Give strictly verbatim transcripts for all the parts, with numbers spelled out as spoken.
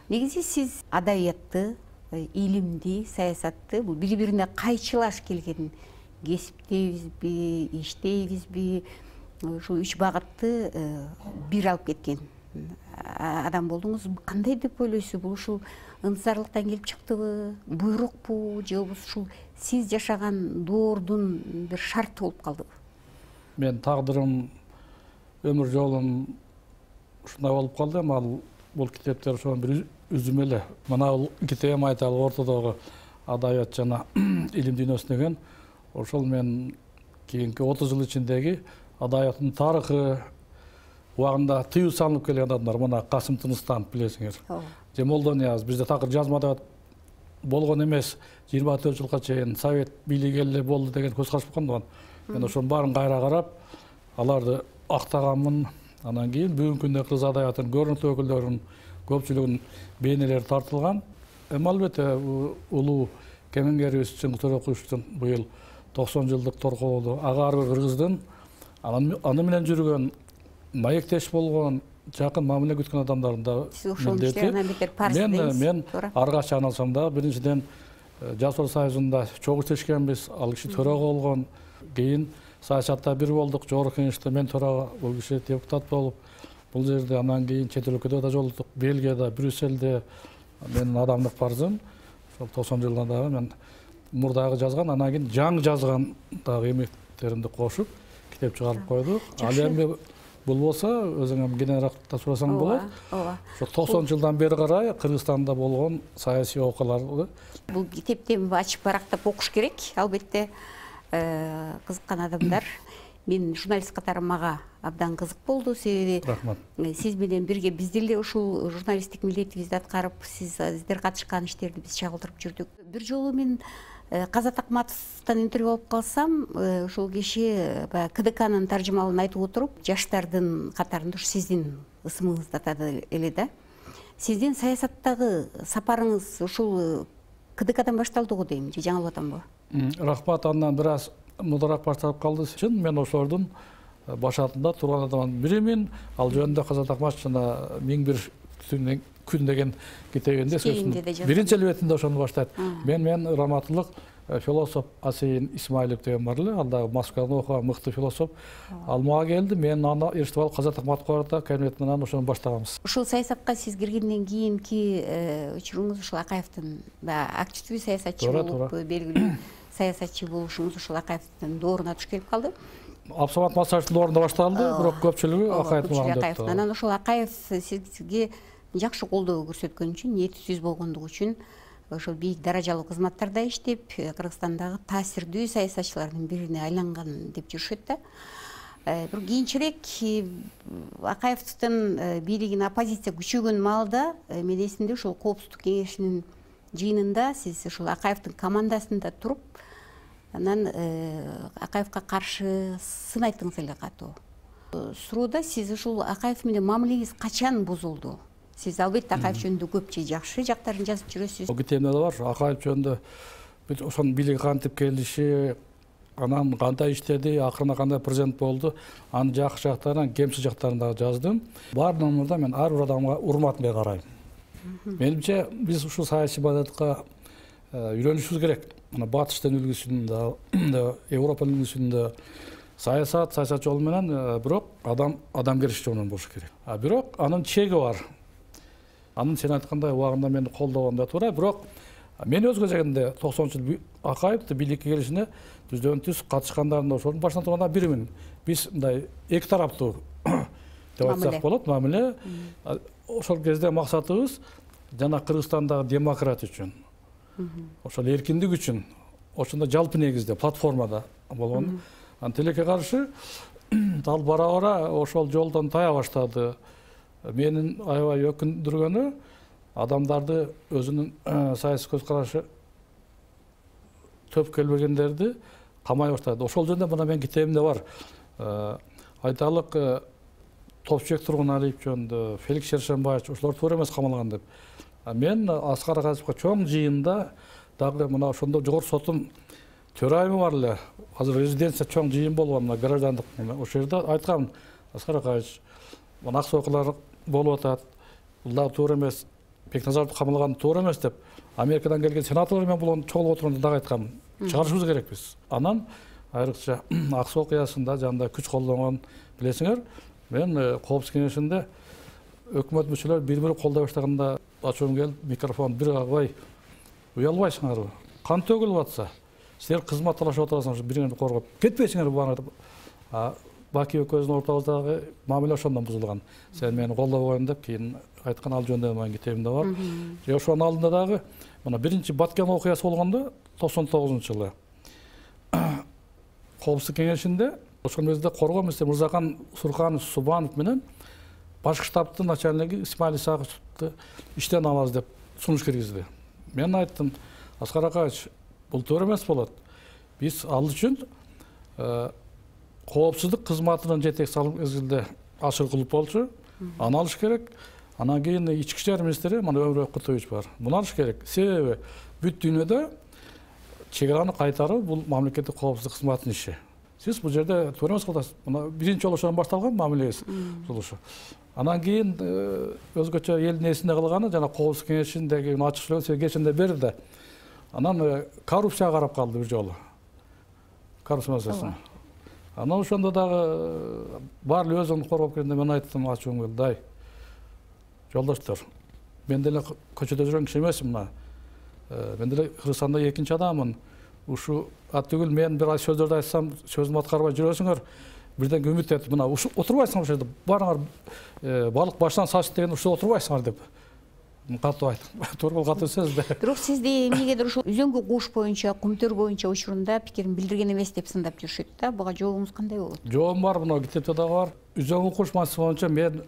Негизи сиз адабиятты, илимди, саясатты бул бири-бирине кайчылаш келген кесип дейбизби, иш дейбизби, ушул үч багытты бир алып кеткен адам болдуңуз. Кандай деп ойлойсуз? Бул ушул ынтызарлыктан келип чыктыбы, буйрукпу, же болбосо ушул сиз жашаган доордун бир шарты болуп калдыбы? Мен тагдырым, өмүр жолум ушундай болуп калды. Ал бул китептер ошон бир үзүм эле. Мына бул китебим айталы ортодогу адабият жана илим дүйнөсү деген. Ошол мен кийинки отуз жыл ичиндеги адабияттын тарыхы убагында тыюу салынып келген адамдар. Мына Касым Тыныстанов билесиңер. Же Молдонияз бизде такыр жазма адабият болгон эмес. жыйырма төрт жылга чейин совет бийлиги эле болду деген көз караш болгон. Мен ошонун баарын кайра карап, аларды актаганмын. Анан кийин бүгүнкү күндө кыргыз адабиятынын көрүнүктүү өкүлдөрүнүн көпчүлүгүнүн бейнелери тартылган. Эми албетте улуу кемеңгерибиз Чыңгыз Төрөкуловичтун быйыл токсон жылдык торкоолу ага ар бир кыргыздын аны менен жүргөн, маектеш болгон, жакын мамиле күткөн адамдардын да милдети. Мен мен ар качан айналсам да биринчиден Жаштар союзунда чогуу иштешкенбиз, ал киши төрага болгон, кийин саясатта бир болдук, жогорку кеңеште мен төрага, бул киши депутат болуп, бул жерде анан кийин чет өлкөдө да жолуктук, Бельгияда, Брюссельде. Менин адамдык парзым ошол токсон жылдан дагы мен мурдагы жазган, анан кийин жаңы жазган дагы эмектеримди кошуп китеп чыгарып койдук. Ал эми бул болсо өзүңөр кененирээк да сурасаң болот. Ошо токсон жылдан бери карай Кыргызстанда болгон саясий окуяларды бул китепти ачып барактап окуш керек. Албетте кызыккан адамдар. Мен журналист катары мага абдан кызык болду, себеби сиз менен бирге биз деле ушул журналисттик милдетибизди аткарып, сиздер катышкан иштерди биз чагылдырып жүрдүк. Бир жолу мен Казат Акматовдон интервью алып калсам, ушул киши КДКнын таржымалын айтып отуруп, жаштардын катарында сиздин ысымыңызды атады эле да. Сиздин саясаттагы сапарыңыз ушул КДКдан башталды го дейм, же жаңылып атамбы? Рахмат, андан бир аз мудараак башталып калды. Чын, мен ошолордун башатында турган адамдын биримин. Ал жөнүндө Казат Акматов жана миң бир күн деген китебинде биринчи элбетинде ошону баштайт. Мен мен раматылык философ Асейин Исмаилов деген бар эле, ал дагы Москвада окуган мыкты философ. Ал мага келди, мен аны эртип алып Казат Акматовго барата кабинет менен ошону баштаганбыз. Ушул саясатка сиз киргенден кийинки учуруңуз ушул Акаевдин активдүү саясатчы болуп, белгилүү саясатчы болушуңуз ушул Акаевдин дооруна туш келип калды. Абсамат Масаевдин доорунда башталды, бирок көпчүлүгү Акаевдин доорунда. Анан ошол Акаев сизге жакшы колдоо көрсөткөн үчүн, ниетсиз болгондугу үчүн ошол бийик даражалуу кызматтарда иштеп, Кыргызстандагы таасирдүү саясатчылардын бирине айланган деп жүрүшөт да. Бир кийинчерээк Акаевдин бийлигине оппозиция күчөгөн маалда мен эсимде ошол Коопсуздук кеңешинин жыйынында сиз ушул Акаевдин командасында туруп, анан Акаевга каршы сын айттыңыз эле катуу. Суроодо сиз ушул Акаев менен мамилеңиз качан бузулду? Сиз албетте Акаев жөнүндө көп же жакшы жактарын жазып жүрөсүз. Китебимде да бар, Акаев жөнүндө ошонун бийлиги кантип келиши, анан кандай иштеди, акырына кандай президент болду, анын жакшы жактарын, кемсиз жактарын дагы жаздым. Баарынан мурда мен ар бир адамга урмат менен карайм. Менимче биз ушул саясий маданиятка үйрөнүшүбүз керек. Мына батыштын үлгүсүндө, Европанын үлгүсүндө саясат, саясат жолу менен бирок адам адамгерчилик жолу менен болуш керек. А бирок анын чеги бар. Анын сен айткандай убагында мени колдогондо туура, бирок мен өз кезегинде токсонунчу жыл Акаевди бийликке келишине түздөн түз катышкандардын ошонун башынан турган биримин. Биз мындай эки тараптуу деп айтсак болот, мамиле. Ошол кезде максатыбыз жана Кыргызстандагы демократия үчүн, ошол эркиндик үчүн, ошондо жалпы негизде платформада болгон. Анан тилекке каршы ал бара-бара ошол жолдон тая баштады. Менин аябай өкүндүргөнү адамдарды өзүнүн саясий көз карашы төп келбегендерди камай баштады. Ошол жөнүндө мына мен китебимде бар. Айталык Топчубек Тургуналиев жөнүндө, Феликс Шершенбаевич ошолор туура эмес камалган деп. Мен Аскар Акаевга чоң жыйында дагы мына ошондо жогорку соттун төрайымы бар эле. Азыр резиденция чоң жыйын болгон, мына граждандык. Ошол жерде айткам, Аскар Акаевич, мына аксоокулар болуп атат. Бул дагы туура эмес. Бекназаровду камалган туура эмес деп Америкадан келген сенаторлор менен булон чогулуп отурганда дагы айткам, чыгарышыбыз керекпиз. Анан айрыкча ак суу окуясында жанда күч колдонгон билесиңер, мен Коопсуздук кеңешинде өкмөт мүчөлөр бири-бири колдой баштаганда ачуум келип микрофон бир кагбай, уялбайсыңарбы? Кан төгүлүп атса, силер кызмат талашып отурасыңар, бириңерди коргоп кетпейсиңерби буга? Баки экөөбүздүн ортобуздагы мамиле ошондон бузулган. Сен мени колдобогон деп кийин айткан ал жөнүндө менин китебимде бар. Же ошонун алдында дагы мына биринчи Баткен окуясы болгондо токсон тогузунчу жылы Коопсуздук кеңешинде ошол мезгилде коргоо министри Мырзакан Сурканов Субанов менен башкы штабтын начальниги Исмаил Исаковду иштен алабыз деп сунуш киргизди. Мен айттым, Аскар Акаевич, бул туура эмес болот. Биз ал үчүн коопсуздук кызматынын жетекчиси ал мезгилде Ашыркулов болчу, аны алыш керек. Анан кийин ички иштер министри мына Өмүрбек Кутуевич бар. Муну алыш керек. Себеби бүт дүйнөдө чек араны кайтаруу бул мамлекеттик коопсуздук кызматынын иши. Сиз бул жерде туура эмес кыласыз. Мына биринчи жолу ошондон башталган мамилеңиз жолушу. Анан кийин өзгөчө элдин эсинде калганы жана Коопсуздук кеңешиндеги ачык сүйлөгөн сиз кечинде берди. Анан коррупцияга карап калды бир жолу. Коррупция маселесин. Анан ошондо дагы баары өзүн коргоп келгенде мен айттым, ачуум келди, ай жолдоштор, мен деле көчөдө жүргөн киши эмесмин мына. Мен деле Кыргызстанда экинчи адаммын. Ушу ат түгүл мен бир сөздөрдү айтсам, сөзүмдү аткарбай жүрөсүңөр, бирден үмүт этип мына ушу отурбайсыңар ошол жерде. Баарыңар балык баштан сачты деген ушул отурбайсыңар деп. Катуу айттым. Туура катуу сөз да. Бирок сизди эмнегедир ушул үзөңгү куш боюнча, кумтөр боюнча учурунда пикирин билдирген эмес деп сындап жүрүшөт да. Буга жообуңуз кандай болот? Жообум бар, мына китепте дагы бар. Үзөңгү куш маселеси боюнча мен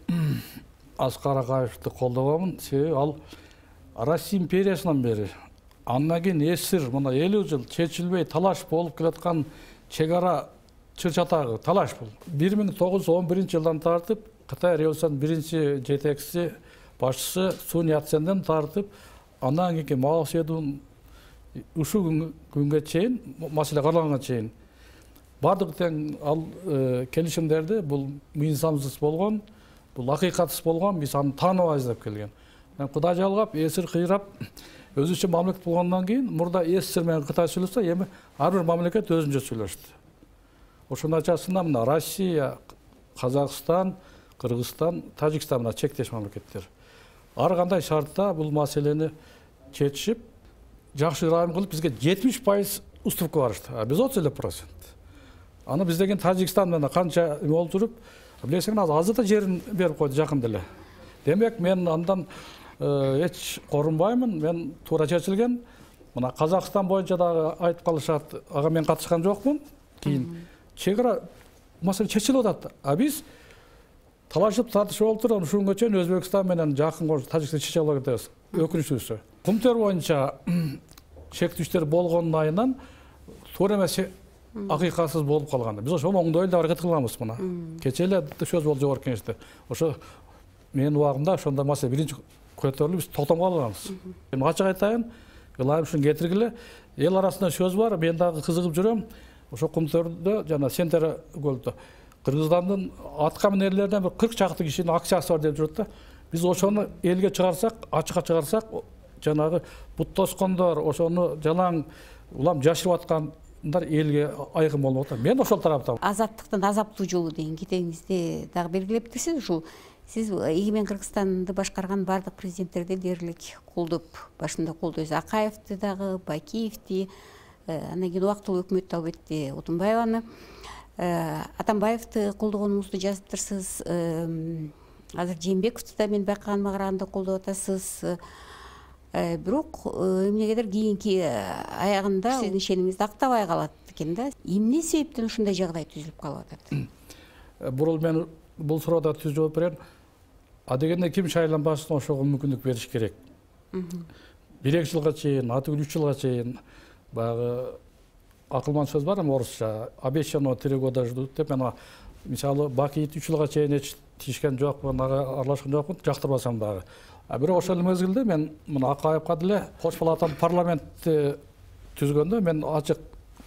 Аскар Акаевди колдобомун. Себеби ал Россия империясынан бери андан кийин эсир мына элүү жыл чечилбей талаш болуп келаткан чек ара чыр-чатагы талаш бул. бир миң тогуз жүз он биринчи жылдан тартып Кытай революциясынын биринчи жетекчиси, башчысы Сун Яценден тартып андан кийинки Мао Цзедун ушул күнгө чейин маселе каралганга чейин бардык тең ал келишимдерди бул мыйынсамсыз болгон, бул акыйкатсыз болгон, биз аны тааныбайбыз деп келген. Кудай жалгап, эсир кыйрап, өзүнчө мамлекет болгондон кийин мурда эсир менен Кытай сүйлөшсө, эми ар бир мамлекет өзүнчө сүйлөштү. Ошонун ачасында мына Россия, Казакстан, Кыргызстан, Тажикстан мына чектеш мамлекеттер. Ар кандай шартта бул маселени чечишип, жакшы ырайым кылып бизге жетимиш пайыз уступка барышты. А биз отуз элүү процент. Аны биз деген Тажикстан менен канча болуп туруп, билесиңер, азыр да жерин берип койду жакын деле. Демек мен андан эч корунбаймын, мен туура чечилген. Мына Казакстан боюнча дагы айтып калышат, ага мен катышкан жокмун. Кийин чек ара маселе чечилип атат. А биз талашып тартышып болуп турган ушул күнгө чейин Өзбекстан менен жакын кош Тажикстан чече албай кетебиз. Өкүнүчтүүсү. Кумтөр боюнча чектештер болгондун айынан туура эмес акыйкатсыз болуп калган. Биз ошол оңдой эле аракет кылганбыз мына. Кече эле сөз болду жогорку кеңеште. Ошо менин убагымда ошондо маселе биринчи көтөрүлүп биз токтом калганбыз. Мен ачык айтайын, ылайым ушуну кетиргиле. Эл арасында сөз бар, мен дагы кызыгып жүрөм. Ошо Кумтөрдө жана Сентер көлдө Кыргызстандын атка минерлеринен бир кырк чакты кишинин акциясы бар деп жүрөт да. Биз ошону элге чыгарсак, ачыкка чыгарсак, жанагы бут тоскондор, ошону жалаң улам жашырып аткандар элге айкын болуп атат. Мен ошол тараптамын. Азаттыктын азаптуу жолу деген китебиңизде дагы белгилептирсиз. Ушул сиз эгемен Кыргызстанды башкарган бардык президенттерди дээрлик колдоп, башында колдойсуз. Акаевди дагы, Бакиевди, андан кийин убактылуу өкмөттү албетте Отунбаеваны, Атамбаевди колдогонуңузду жазыптырсыз. Азыр Жээнбековду да мен байкаганыма караганда колдоп атасыз. Бирок эмнегедир кийинки аягында сиздин ишенимиңиз актабай калат экен да. Эмне себептен ушундай жагдай түзүлүп калып атат? Бурул мен бул суроодо түз жооп берем. А дегенде ким шайланбасын ошого мүмкүндүк бериш керек. бир эки жылга чейин, аты үч жылга чейин баягы акылман сөз бар эми орусча. Обещано три года ждут деп мен мисалы Бакиевди үч жылга чейин эч тишкен жокмун, ага аралашкан жокмун, жактырбасам дагы. А бирок ошол мезгилде мен мына Акаевга деле кош палаталуу парламентти түзгөндө мен ачык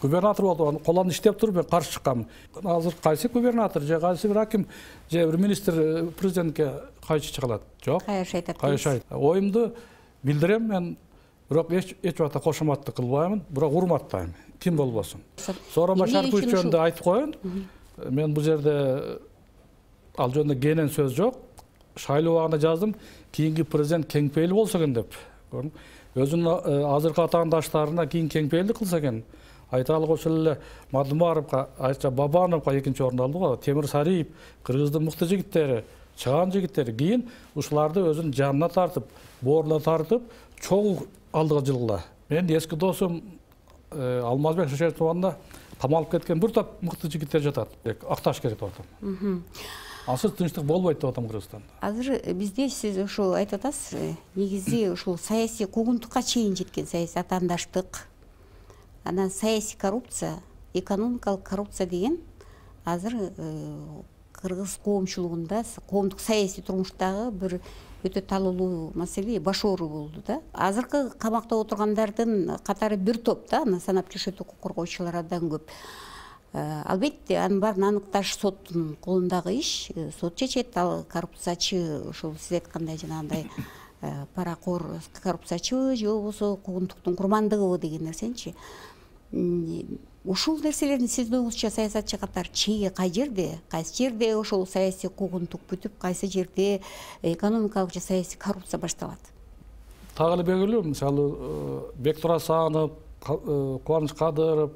губернатор болду, колон иштеп туруп мен каршы чыккам. Азыр кайсы губернатор же кайсы бир аким же бир министр президентке кайчы чыгалат? Жок. Кайшы айтат. Кайшы айт. Оюмду билдирем мен, бирок эч эч убакта кошоматтык кылбаймын, бирок урматтайм. Ким болбосун. Сооронбай Шарыпович жөнүндө айтып коеюн. Мен бул жерде ал жөнүндө кенен сөз жок. Шайлоо убагында жаздым, кийинки президент кең пейил болсо экен деп. Өзүнүн азыркы атаандаштарына кийин кең пейилдик кылса экен. Айталық ошол эле Мадумаровго, Айча Бабановго экинчи орунду алды го. Темир Сариев, Кыргыздын мыкты жигиттери, чыган жигиттери кийин ушуларды өзүнүн жанына тартып, бооруна тартып, чогуу алдыга жылгыла. Мен эски досум Алмазбек Шешетовна камалып кеткен бир топ мыкты жигиттер жатат. Акташ керек деп атам. Ансыз тынчтык болбойт деп атам Кыргызстанда. Азыр бизде сиз ушул айтып атасыз, негизи ушул саясий куугунтукка чейин жеткен саясий атаандаштык, анан саясий коррупция, экономикалык коррупция деген азыр кыргыз коомчулугунда, коомдук саясий турмуштагы бир өтө талуулуу маселе, баш оору болду да. Азыркы камакта отургандардын катары бир топ да, аны санап жүрүшөт, укук коргоочулар абдан көп. Албетте, анын баарын аныкташ соттун колундагы иш, сот чечет. Ал коррупциячы, ушул сиз айткандай жанагындай паракор коррупциячыбы же болбосо куугунтуктун курмандыгыбы деген нерсеничи. Ушул нерселердин сиздин оюңузча саясатчы катары чеги кай жерде, кайсы жерде ошол саясий куугунтук бүтүп, кайсы жерде экономикалык же саясий коррупция башталат? Так эле белгилүү, мисалы Бектур Асанов, Кубаныч Кадыров,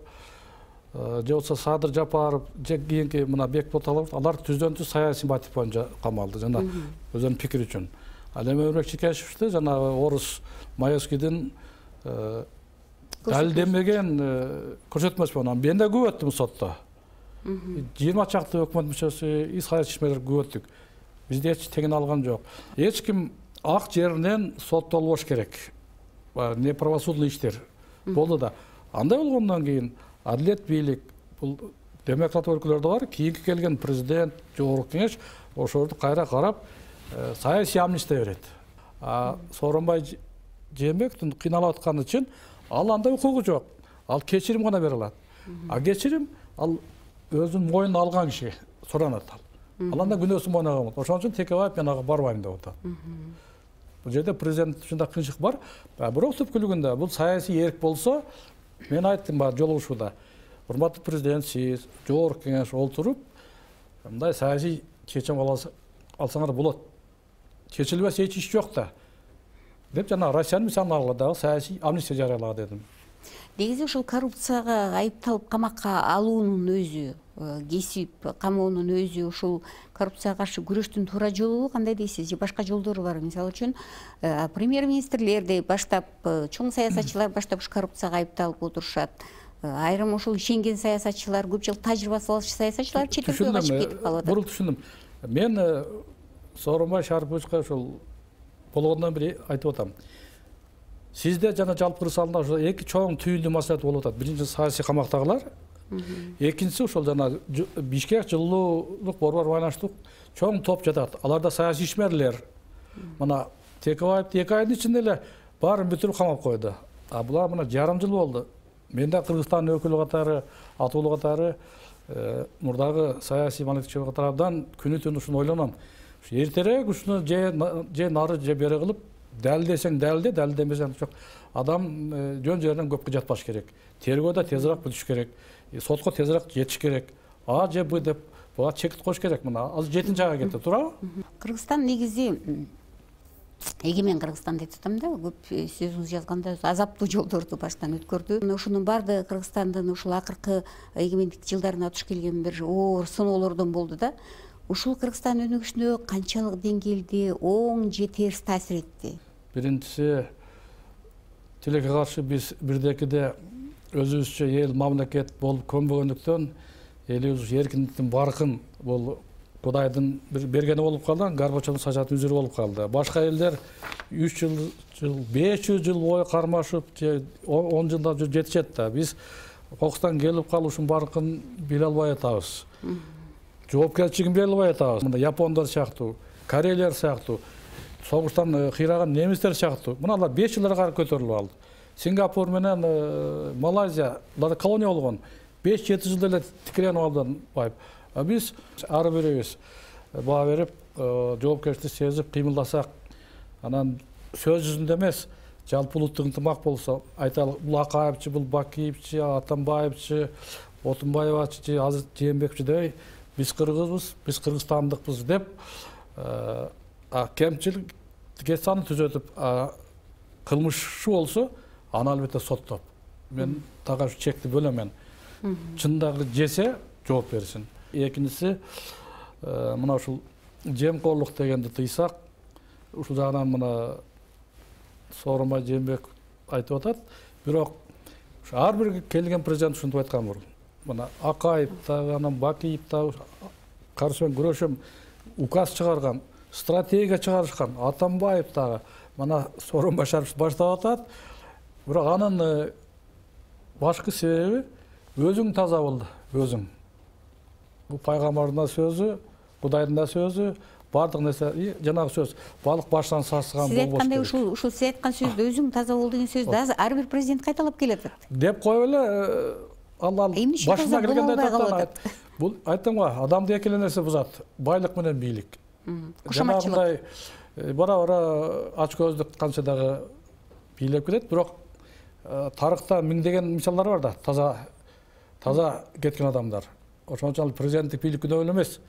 же болбосо Садыр Жапаров, же кийинки мына Бекболот Алабов, алар түздөн түз саясий мотив боюнча камалды жана өзүнүн пикири үчүн. Ал эми Өмүрбек Чекешевди жанагы орус Маевскийдин далилденбеген көрсөтмөсү менен мен да күбөттүм сотто. жыйырма чакты өкмөт мүчөсү, и саясий ишмерлер күбөттүк. Бизде эч тегин алган жок. Эч ким ак жеринен соттолбош керек. Не правосудный иштер болду да. Андай болгондон кийин адилет бийлик, бул демократ өлкөлөрдө бар, кийинки келген президент, жогорку кеңеш ошолорду кайра карап, саясий амнистия берет. А Сооронбай Жээнбековдун кыйналып атканы үчүн ал андай укугу жок. Ал кечирим гана бере алат. А кечирим ал өзүнүн мойнуна алган киши суранат ал. Ал анда күнөөсүн мойнуна алган. Ошон үчүн Текебаев мен ага барбайм деп атат. Бул жерде президент үчүн кыйынчылык бар. Бирок түпкүлүгүндө бул саясий эрк болсо, мен айттым бар жолугушууда. Урматтуу президент, сиз жогорку кеңеш олтуруп, мындай саясий чечим алсаңар болот. Чечилбес эч иш жок да. Деп жана Россиянын мисалын алганда саясий амнистия жарыялага дедим. Негизи ушул коррупцияга айыпталып камакка алуунун өзү, кесип камоонун өзү ушул коррупцияга каршы күрөштүн туура жолу кандай дейсиз? Же башка жолдору бар? Мисалы үчүн премьер-министрлерди баштап, чоң саясатчылар баштап ушу коррупцияга айыпталып отурушат. Айрым ушул ишенген саясатчылар, көп жыл тажрыйбасы бар саясатчылар чет элге качып кетип калып атат. Бурул түшүндүм. Мен Сооронбай Шарыповичке ушул болгондон бери айтып атам. Сизде жана жалпы Кыргызстанда ошо эки чоң түйүндүү маселе болуп атат. Биринчи саясий камактагылар, экинчиси ошол жана Бишкек жылуулук борбор байланыштуу чоң топ жатат. Аларда саясий ишмерлер. Мына Текебаевди эки айдын ичинде эле баарын бүтүрүп камап койду. А булар мына жарым жыл болду. Мен да Кыргызстан өкүлү катары, атуулу катары, мурдагы саясий маалыматчы катарынан күнү түнү ушуну ойлоном. Эртерээк ушуну же же нары же бери кылып, далилдесең далилде, далилдемесең жок. Адам жөн жеринен көпкө жатпаш керек. Тергөөдө тезирээк бүтүш керек. Сотко тезирээк жетиш керек. А же Б деп буга чекит коюш керек. Мына азыр жетинчи айга кетти, туурабы? Кыргызстан негизи эгемен Кыргызстан деп атам да, көп сөзүңүз жазганда азаптуу жолдорду баштан өткөрдү. Ушунун баардыгы Кыргызстандын ушул акыркы эгемендик жылдарына туш келген бир оор сыноолордон болду да. Ушул Кыргызстан өнүгүшүнө канчалык деңгээлде оң же терс таасир этти? Биринчиси, тилекке каршы биз бирдекиде өзүбүзчө эл мамлекет болуп көнбөгөндүктөн элибиз эркиндиктин баркын бул Кудайдын бергени болуп калды, Горбачевдун сажатын үзүрү болуп калды. Башка элдер үч жыл, беш жүз жыл бою кармашып, же он жылда жетишет да. Биз кокустан келип калушун баркын биле албай атабыз. Жоопкерчилигин бере албай атабыз. Мына япондор сыяктуу, корейлер сыяктуу, согуштан кыйраган немистер сыяктуу. Мына алар беш жылдарга көтөрүлүп алды. Сингапур менен Малайзия колония болгон. беш жети жыл эле тикирен абдан байып. А биз ар бирибиз баа берип, жоопкерчилик сезип кыймылдасак, анан сөз жүзүндө эмес, жалпы улуттук ынтымак болсо, айталы, бул Акаевчи, бул Бакиевчи, Атамбаевчи, Отунбаевачы, азыр Жээнбековчи дебей, биз кыргызбыз, биз кыргызстандыкпыз деп, кемчилик саны түзөтүп, кылмышчу болсо, аны албетте соттоп. Мен тага чекти бөлөмөн. Чындагы жесе жооп берсин. Экинчиси, мына ушул жемкорлук дегенди тыйсак, ушул жагынан мына Сооронбай Жээнбеков айтып атат. Бирок ар бир келген президент ушинтип айткан бул. Мына Акаев да, анан Бакиев да каршы менен күрөшөм указ чыгарган, стратегия чыгарышкан, Атамбаев дагы, мына Сооронбай Шарипович баштап атат. Бирок анын башкы себеби өзүң таза бол, өзүң. Бул пайгамбардын да сөзү, Кудайдын да сөзү, бардык нерсе жанагы сөз. Балык баштан сасыган болбош. Сиз айткандай ушул ушул сиз айткан сөздү өзүң таза бол деген сөздү азыр ар бир президент кайталап келатат. Деп коюп эле ал башына келгенде айтат. Бул айттым го, адамды эки эле нерсе бузат. Байлык менен бийлик. Жанагындай бара-бара ач көздүк канча дагы бийлеп кетет, бирок тарыхта миңдеген мисалдар бар да, таза таза кеткен адамдар. Ошон үчүн президенттик бийлик күнөө эле эмес.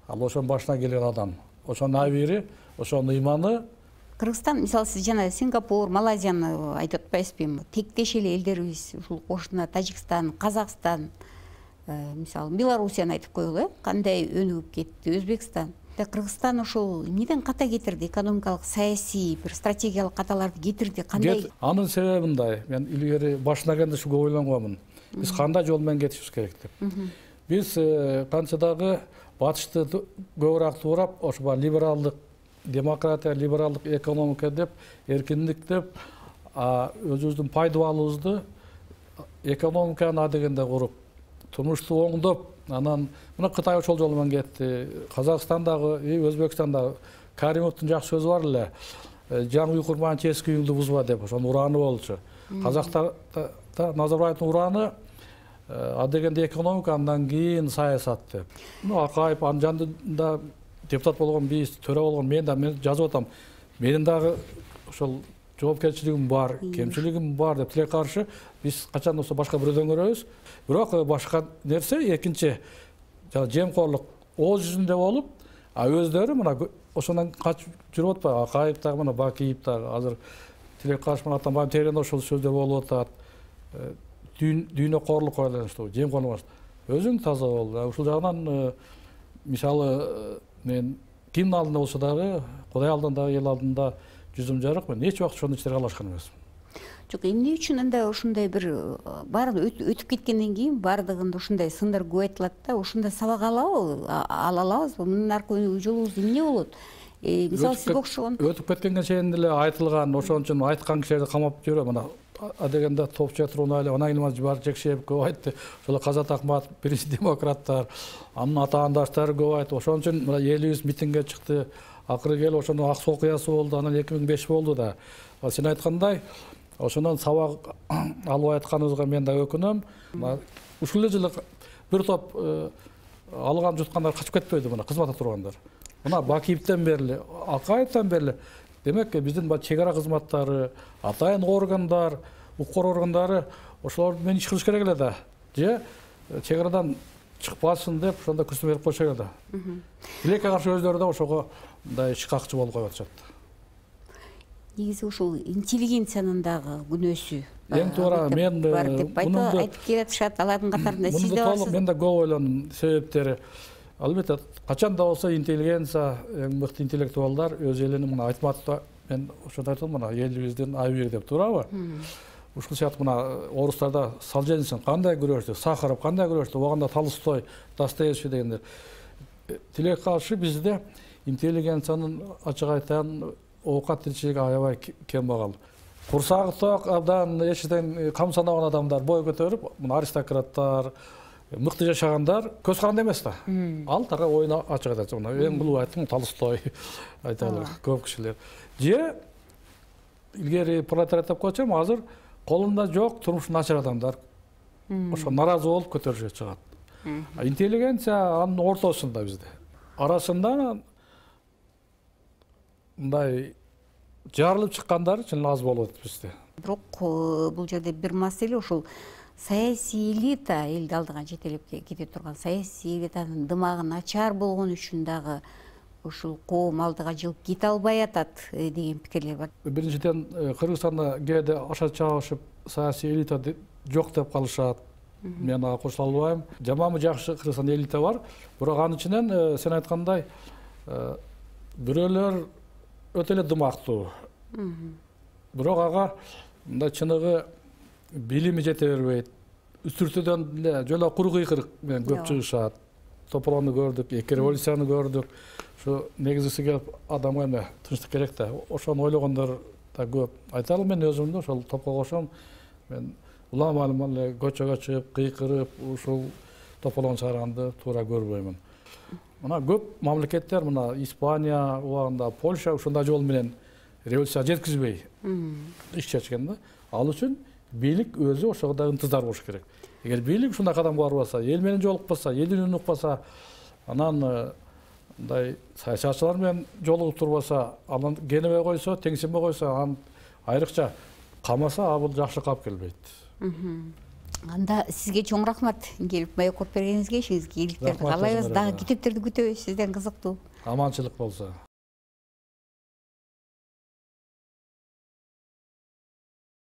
Ал ошонун башына келген адам. Ошонун абийири, ошонун ыйманы. Кыргызстан, мисалы, сиз жана Сингапур, Малайзияны айтып атпайсызбы? Тектеш эле элдерибиз, ушул кошуна Тажикстан, Казакстан, мисалы, Белоруссияны айтып коелу, кандай өнүгүп кетти, Өзбекстан. Кыргызстан ошол эмнеден ката кетирди? Экономикалык, саясий, бир стратегиялык каталарды кетирди, кандай? Анын себеби мындай. Мен илгери башына келгенде ушу көп ойлонгонмун. Биз кандай жол менен кетишибиз керек деп. Биз канча дагы батышты көбүрөөк туурап, ошо либералдык, демократия, либералдык экономика деп, эркиндик деп, өзүбүздүн пайдалуулубузду экономиканы адегенде куруп, турмушту оңдоп, анан мына Кытай ошол жол менен кетти. Казакстандагы, Өзбекстандагы Каримовдун жакшы сөзү бар эле. Жаңы үй курман эски үйүңдү бузба деп, ошонун ураны болчу. Казактарда Назарбаевдин ураны адегенде экономика, андан кийин саясат деп. Акаев анын жанында депутат болгон, биз төрө болгон, мен да мен жазып атам. Менин дагы ошол жоопкерчилигим бар, кемчилигим бар деп тилек каршы биз качан болсо башка бирөөдөн көрөбүз. Бирок башка нерсе экинчи жана жемкорлук ооз жүзүндө болуп, а өздөрү мына ошондон качып жүрүп атпайбы? Акаев дагы, мына Бакиев дагы азыр тилек каршы менен Атамбаев терен ошол сөздөр болуп атат. Дүйнөкорлукка байланыштуу, жемкорлук. Өзүң таза бол. Ушул жагынан мисалы мен кимдин алдында болсо дагы, Кудай алдында, эл алдында жүзүм жарык, мен эч убакыт ошондой иштерге аралашкан эмесмин. Жок, эмне үчүн анда ушундай бир баары өтүп кеткенден кийин баардыгында ушундай сындар көп айтылат да, ушундай сабак алабы, ала алабызбы? Мунун аркы жолубуз эмне болот? Мисалы, сизге окшогон өтүп кеткенге чейин эле айтылган, ошон үчүн айткан кишилерди камап жүрөм. Мына адегенде Топчу Турунали, Онай Илмаз Жибаржекшиев көп айтты. Ошол Казат Акматов, биринчи демократтар, анын атаандаштары көп айтты. Ошон үчүн мына элибиз митингге чыкты. Акыры келип ошонун ак суу окуясы болду, анан эки миң беш болду да. Сен айткандай, ошондон сабак албай атканыбызга мен да өкүнөм. Ушул эле жылы бир топ алган жуткандар качып кетпейди, мына кызматта тургандар. Мына Бакиевден бери, Акаевден бери, демек биздин чек ара кызматтары, атайын органдар, укук органдары ошолор менен иш кылыш керек эле да. Же чек арадан чыкпасын деп ошондо күрсүн берип койсо керек да. Тилекке каршы өздөрү да ошого мындай иш какчы болуп коюп атышат. Негизи ушул интеллигенциянын дагы күнөөсү эң туура мен бар деп айтып келатышат. Алардын катарында сиз да барсыз. Мен да көп ойлондум себептери. Албетте качан да болсо интеллигенция, эң мыкты интеллектуалдар өз элинин, мына Айтматов мен ошондо айттым, мына элибиздин айбири деп туурабы? Ушул сыяктуу мына орустарда Солженицин кандай күрөштү, Сахаров кандай күрөштү, оганда Толстой, Достоевский дегендер. Тилек каршы бизде интеллигенциянын ачык айтайын оокат тиричилиги аябай кем багал. Курсагы ток, абдан эчтен кам санаган адамдар бой көтөрүп, мына аристократтар, мыкты жашагандар көз каранды эмес да. Ал тага оюна ачык айтат. Мына эң булуу айттым, Толстой айталы көп кишилер. Же илгери пролетариат деп койчум, азыр колунда жок, турмушу начар адамдар ошо наразы болуп көтөрүшкө чыгат. Интеллигенция анын ортосунда бизде. Арасында мындай жарылып чыккандар чын аз болот бизде. Бирок бул жерде бир маселе ушул саясий элита, элди алдыган жетелеп кете турган саясий элитанын дымагы начар болгон үчүн дагы ушул коом алдыга жылып кете албай атат деген пикирлер бар. Биринчиден, Кыргызстанда кээде аша чабышып саясий элита жок деп калышат. Мен ага кошула албайм. Жаманбы жакшы Кыргызстанда элита бар, бирок анын ичинен сен айткандай бирөөлөр өтө эле дымактуу. Бирок ага мындай чыныгы билими жете бербейт. Үстүртөдөн эле жоло куру кыйкырык менен көп чыгышат. Тополону көрдүк, эки революцияны көрдүк. Ошо негизгиси келип адамга эме тынчтык керек да. Ошону ойлогондор да көп. Айталы мен өзүм да ошол топко кошом. Мен улам-улам эле көчөгө чыгып, кыйкырып, ушул тополону чыгарганды туура көрбөймүн. Мына көп мамлекеттер, мына Испания, убагында Польша ушундай жол менен революция жеткизбей иш чечкен да. Ал үчүн бийлик өзү ошого да ынтызар болуш керек. Эгер бийлик ушундай кадамга барбаса, эл менен жолукпаса, элдин үнүн укпаса, анан мындай саясатчылар менен жолугуп турбаса, анан кенебей койсо, теңсинбей койсо, анан айрыкча камаса, а бул жакшы калып келбейт. Анда сизге чоң рахмат келип маек коюп бергениңизге, ишиңизге ийгиликтерди каалайбыз. Дагы китептерди күтөбүз сизден, кызыктуу. Аманчылык болсо.